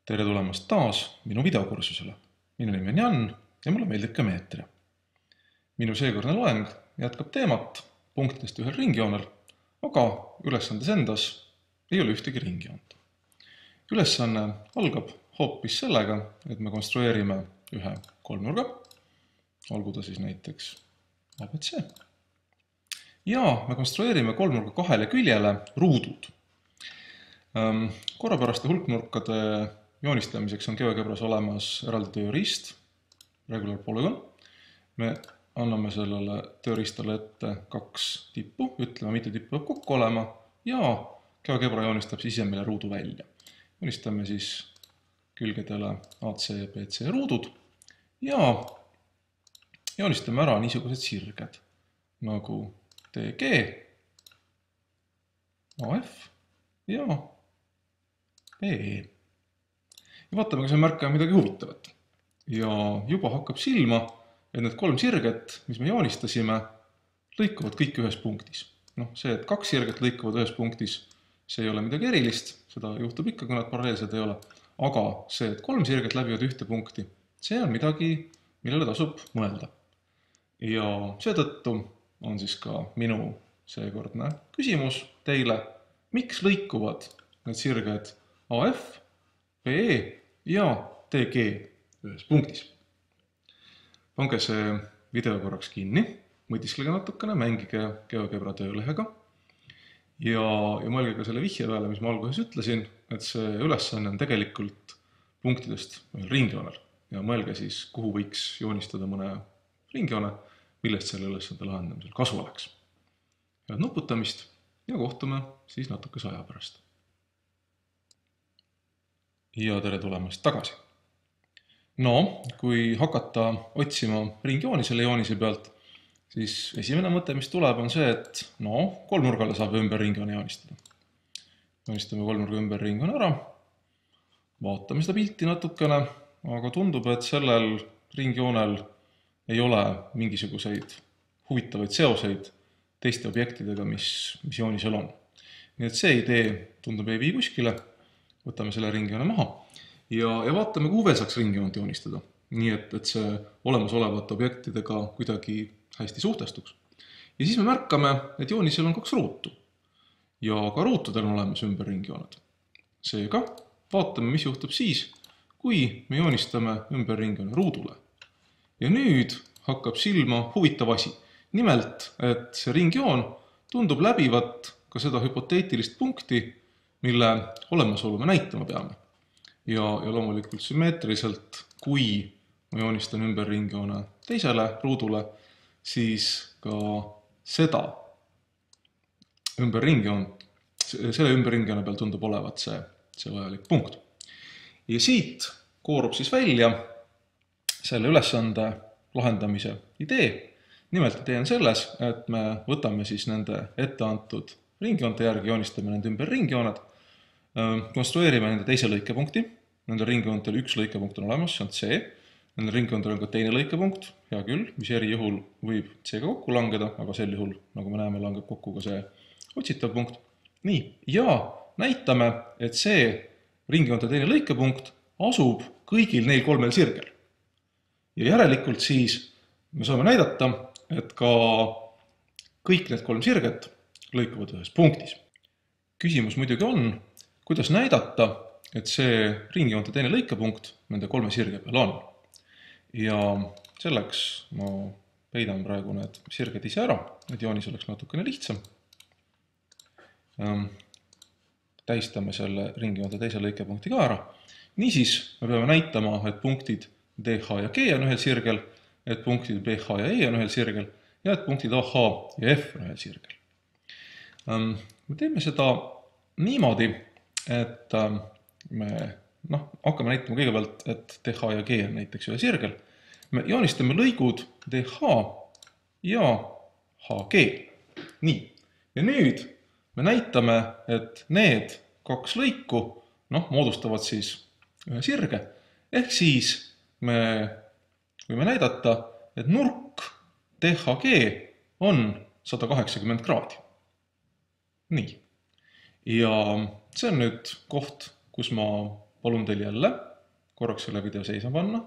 Tere tulemast taas minu videokursusele. Minu nimi on Jan ja mulle meeldib geomeetria. Minu seekordne loeng jätkab teemat punktidest ühel ringjoonel, aga ülesandes endas ei ole ühtegi ringjoont. Ülesanne algab hoopis sellega, et me konstrueerime ühe kolmnurga, olgu ta siis näiteks ABC, ja me konstrueerime kolmnurga kahele küljele ruudud. Korrapäraste hulknurkade joonistamiseks on GeoGebras olemas eraldi tööriist, Regular Polygon. Me anname sellele tööriistale ette kaks tippu, ütleme, mitu tippu peab kokku olema, ja GeoGebra joonistab siis ise meile ruudu välja. Joonistame siis külgedele AC ja BC ruudud ja joonistame ära niisugused sirged nagu DG, AF ja BE. Ja vaatame, kas me märkame midagi huvitavat. Ja juba hakkab silma, et need kolm sirget, mis me joonistasime, lõikuvad kõik ühes punktis. See, et kaks sirget lõikuvad ühes punktis, see ei ole midagi erilist, seda juhtub ikka, kui nad paralleelsed ei ole. Aga see, et kolm sirget läbivad ühte punkti, see on midagi, millele tasub mõelda. Ja seetõttu on siis ka minu seekordne küsimus teile, miks lõikuvad need sirged AF, BE ja DG ühes punktis. Pange see video korraks kinni, mõtisklege natukene, mängige GeoGebra töölehega ja mõelge ka selle vihje peale, mis ma alguses ütlesin, et see ülesanne on tegelikult punktidest ühel ringjoonel ja mõelge siis, kuhu võiks joonistada mõne ringjoone, millest selle ülesande lahendamisel kasu oleks. Head nuputamist ja kohtume siis natukese aja pärast. Ja tere tulemast tagasi. Kui hakata otsima ringjooni selle joonise pealt, siis esimene mõte, mis tuleb, on see, et kolmnurgale saab ümber ringjoone joonistada. Joonistame kolmnurga ümber ringjoone ära, vaatame seda pilti natukene, aga tundub, et sellel ringjoonel ei ole mingisuguseid huvitavaid seoseid teiste objektidega, mis joonisel on. Nii et see idee tundub ei vii kuskile. Võtame selle ringjoone maha ja vaatame, kuhu veel saaks ringjoont joonistada. Nii et see olemasolevate objektidega kuidagi hästi suhtestuks. Ja siis me märkame, et joonisel on kaks ruutu. Ja ka ruutudel on olemas ümber ringjooned. Seega vaatame, mis juhtub siis, kui me joonistame ümber ringjoone ruudule. Ja nüüd hakkab silma huvitav asi. Nimelt, et see ringjoon tundub läbivat ka seda hüpoteetilist punkti, mille olemasolu me näitama peame. Ja loomulikult sümmeetriliselt, kui ma joonistan ümber ringjoone teisele ruudule, siis ka selle ümber ringjoone peal tundub olevat see vajalik punkt. Ja siit koorub siis välja selle ülesande lahendamise idee. Nimelt idee on selles, et me võtame siis nende etteantud ringjoonte järgi, joonistame nende ümber ringjooned, konstrueerime nende teise lõikepunkti, nende ringjoontel üks lõikepunkt on olemas, see on C, nende ringjoontel on ka teine lõikepunkt, hea küll, mis erijuhul võib C-ga kokku langeda, aga sel juhul, nagu me näeme, langeb kokku ka see otsitav punkt. Nii, ja näitame, et see ringjoonte teine lõikepunkt asub kõigil neil kolmel sirgel. Ja järelikult siis me saame näidata, et ka kõik need kolm sirget lõikuvad ühes punktis. Küsimus muidugi on, kuidas näidata, et see ringjoonte teine lõikepunkt nende kolme sirge peal on. Ja selleks ma peidan praegu need sirged ise ära, et joonis oleks natukene lihtsam. Tähistame selle ringjoonte teise lõikepunkti ka ära. Niisiis me peame näitama, et punktid DH ja G on ühel sirgel, et punktid BH ja E on ühel sirgel ja et punktid AH ja F on ühel sirgel. Me teeme seda niimoodi, et me hakkame näitama kõigepealt, et DH ja G on näiteks ühel sirgel. Me joonistame lõigud DH ja HG. Nii. Ja nüüd me näitame, et need kaks lõiku moodustavad siis ühe sirge. Ehk siis me võime näidata, et nurk DHG on 180 kraadi. Nii. Ja see on nüüd koht, kus ma palun teil jälle korraks selle video seisma panna,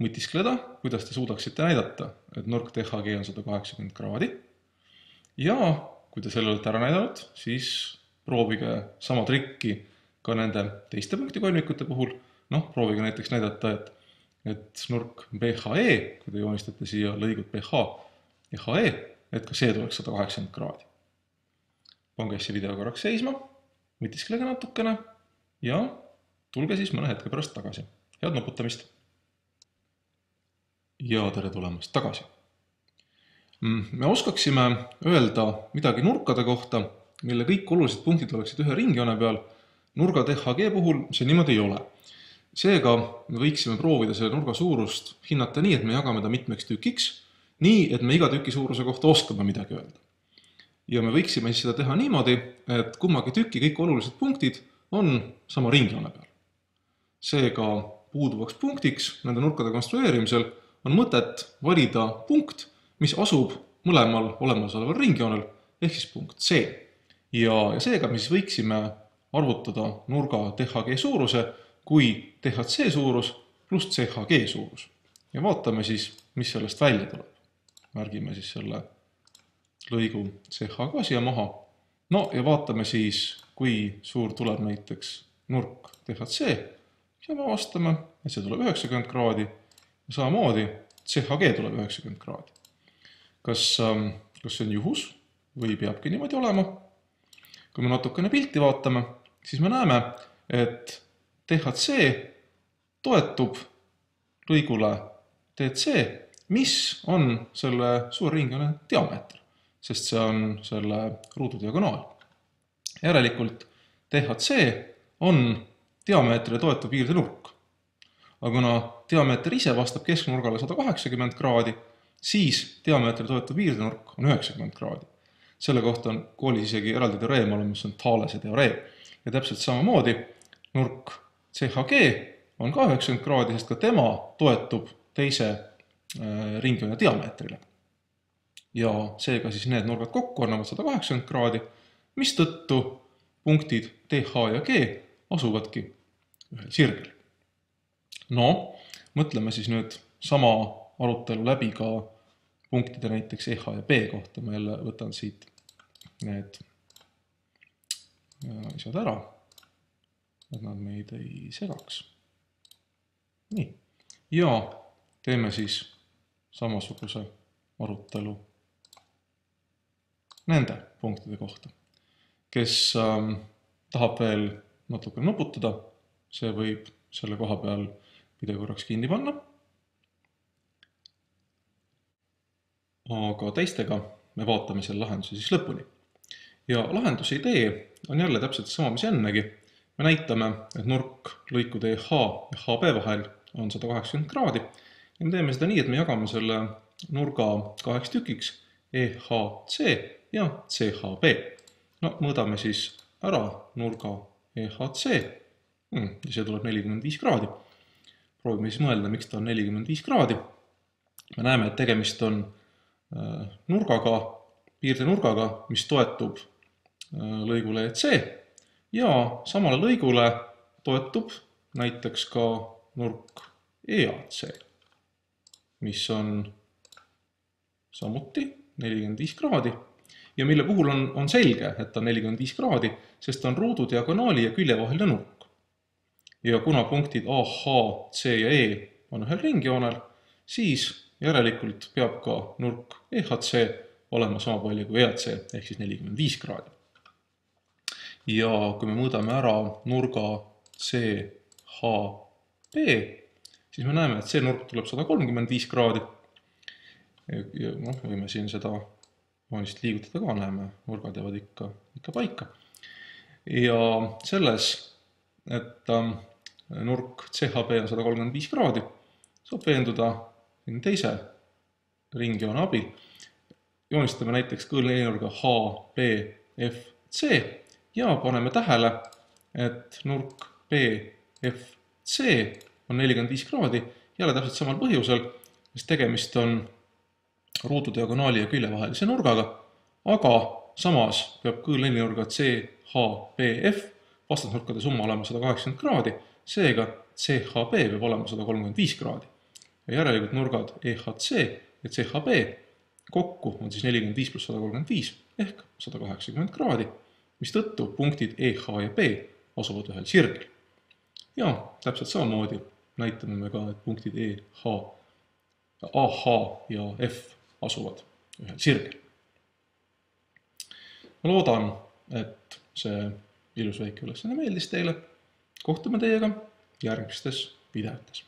mõtiskleda, kuidas te suudaksite näidata, et nurk THG on 180 kraadi. Ja kui te selle olete ära näidanud, siis proovige sama trikki ka nende teiste punktikolmikute puhul. Proovige näiteks näidata, et nurk BHE, kui te joonistate siia lõigud BH ja HE, et ka see tuleks 180 kraadi. Pange see video korraks seisma, mõtisklege natukene ja tulge siis mõne hetke pärast tagasi. Head nuputamist! Ja tere tulemast tagasi! Me oskaksime öelda midagi nurkade kohta, mille kõik olulised punktid oleksid ühe ringjoone peal. Nurga THG puhul see niimoodi ei ole. Seega me võiksime proovida selle nurga suurust hinnata nii, et me jagame ta mitmeks tükiks, nii, et me iga tüki suuruse kohta oskame midagi öelda. Ja me võiksime siis seda teha niimoodi, et kummagi tüki kõik olulised punktid on sama ringjoone peal. Seega puuduvaks punktiks nende nurkade konstrueerimisel on mõtet valida punkt, mis asub mõlemal olemasoleval ringjoonel, ehk siis punkt C. Ja seega me siis võiksime arvutada nurga THG suuruse kui THC suurus pluss CHG suurus. Ja vaatame siis, mis sellest välja tuleb. Märgime siis selle lõigu CH ka siia maha. Ja vaatame siis, kui suur tuleb näiteks nurk THC. Ja me vastame, et see tuleb 90 kraadi ja samamoodi CHG tuleb 90 kraadi. Kas see on juhus või peabki niimoodi olema? Kui me natukene pilti vaatame, siis me näeme, et THC toetub lõigule DC, mis on selle suurringjoone diameeter, sest see on selle ruudu diagonaal. Järelikult THC on diameetrile toetav piirde nurk. Aga kuna diameeter ise vastab kesknurgale 180 kraadi, siis diameetrile toetav piirde nurk on 90 kraadi. Selle kohta on koolis isegi eraldi teoreem olemas, mis on Thalese teoreem. Ja täpselt samamoodi nurk CHG on ka 90 kraadi, sest ka tema toetub teise ringjoone diameetrile. Ja seega siis need nurgad kokku annavad 180 kraadi, mis tõttu punktid TH ja G asuvadki ühel sirgel. Mõtleme siis nüüd sama arutelu läbi ka punktide näiteks EH ja B kohta. Ma jälle võtan siit need asjad ära, et nad meid ei segaks. Nii. Ja teeme siis samasuguse arutelu nende punktide kohta. Kes tahab veel natuke nuputada, see võib selle koha peal video korraks kinni panna. Aga teistega me vaatame selle lahenduse siis lõpuni. Ja lahenduse idee on jälle täpselt sama, mis ennegi. Me näitame, et nurk lõikude EH ja HB vahel on 180 kraadi. Ja me teeme seda nii, et me jagame selle nurga kaheks tükiks EHC ja CHB. Mõõdame siis ära nurga EHC. Ja see tuleb 45 kraadi. Proovime siis mõelda, miks ta on 45 kraadi. Me näeme, et tegemist on nurgaga, piirde nurgaga, mis toetub lõigule EC ja samale lõigule toetub näiteks ka nurk EAC, mis on samuti 45 kraadi ja mille puhul on selge, et on 45 kraadi, sest on ruudu diagonaali ja külje vaheline nurk. Ja kuna punktid AH, C ja E on ühel ringjoonel, siis järelikult peab ka nurk EHC olema sama palju kui EAC, ehk siis 45 kraadi. Ja kui me mõõdame ära nurga CHB, siis me näeme, et see nurk tuleb 135 kraadi. Ja võime siin seda joonist liigutada ka, näeme, nurgad jäävad ikka paika. Ja selles, et nurk CHB on 135 kraadi, saab veenduda teise ringjoone abil. Joonistame näiteks kõõrnurga HBFC ja paneme tähele, et nurk BFC on 45 kraadi jälle täpselt samal põhjusel, sest tegemist on ruudu diagonaali ja külje vahelise nurgaga, aga samas peab kõõrnurga CHBF vastasnurkade summa olema 180 kraadi, Seega CHB peab olema 135 kraadi. Ja järelikult nurgad EHC ja CHB kokku on siis 45 pluss 135 ehk 180 kraadi, mis tõttu punktid EH ja B asuvad ühel sirgel. Ja täpselt samamoodi näitame me ka, et punktid EH, AH ja F asuvad ühel sirgel. Ma loodan, et see ilus väike ülesanne meeldis teile. Kohtume teiega järgmistes videotes.